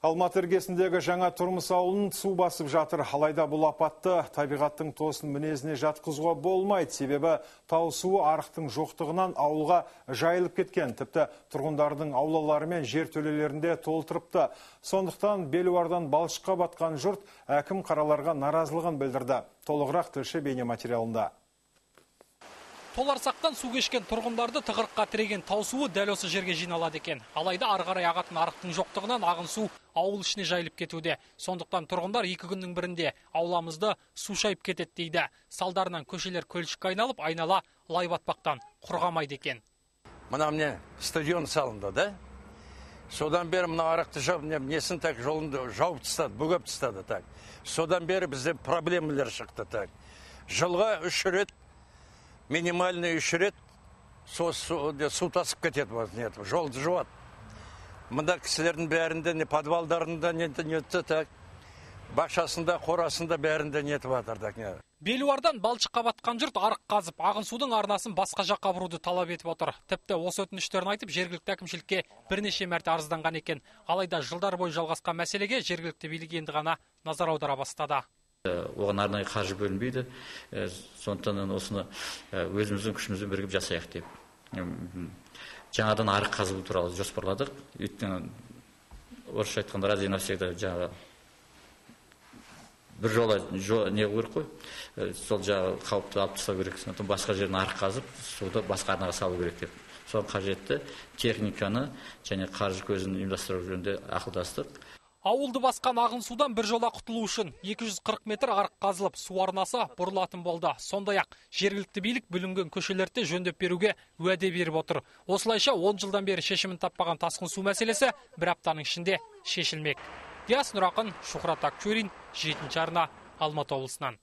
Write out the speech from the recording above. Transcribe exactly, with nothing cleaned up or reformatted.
Алматы іргесіндегі жаңа тұрмыс ауылын су басып жатыр. Алайда бұл апатты табиғаттың тосын мінезіне жатқызуға болмайды. Себебі тау суы арықтың жоқтығынан ауылға жайылып кеткен. Тіпті тұрғындардың аулалары мен жер төлелерінде толтырыпты. Сондықтан Белуардан балшыққа батқан жұрт әкім қараларға наразылығын білдірді. Толығырақ тілші бейнематериалында. Толарсақтан су кешкен тұрғындарды тығырыққа тіреген тау суы дәл осы жерге жиналады екен. Алайда ары қарай ағатын арықтың жоқтығынан ағын су ауыл ішіне жайылып кетуде. Сондықтан тұрғындар екі күннің бірінде ауламызды су шайып кетеді дейді. Салдарынан көшелер көлшікке айналып, айнала лай батпақтан құрғамайды екен. Мына міне стадион салынды, да? Содан бері мына арықты жауып, несін так жолында жауып тастады, бөгеп тастады, так. Содан бері бізде проблемалар шықты, так. Жылға үш рет минимальный үш рет су тасып кетеді, жолды жуады. Мұнда кісілердің бәрінде, не подвалдарында, не так, бақшасында, қорасында бәрінде нетіп атырдық. Белуардан балшыққа батқан жұрт арық қазып, ағын судың арнасын басқа жаққа бұруды талап етіп отыр. Тіпті осы өтініштерін айтып, жергілікті әкімшілікке бірнеше мәрте арызданған екен. Алайда жылдар бойы жалғасқан мәселеге жергілікті билік енді ғана назар аудара бастады. Оған арнайы қаржы бөлінбейді, сондықтан осыны өзіміздің күшімізбен бірігіп жасайық деп. Жаңадан арық қазу туралы жоспарладық. Өйткені орысша айтқанда раз и навсегда жаңағы бір жола не керек қой, сол жағы қауіпті алып тастау керек. Сондықтан басқа жерін арық қазып, суды басқа арнаға салу керек деп. Соған қажетті техниканы және қаржы көзін ұйымдастыру жөнінде ақылдастық. Ауылды басқан ағын судан бір жола құтылу үшін екі жүз қырық метр арық қазылып, су арнасы бұрылатын болды. Сондай-ақ жергілікті билік бүлінген көшелерді жөндеп беруге уәде беріп отыр. Осылайша он жылдан бері шешімін таппаған тасқын су мәселесі бір аптаның ішінде шешілмек. Диас Нұрақын, Шухрат Акчурин, жетінші арна, Алматы облысынан.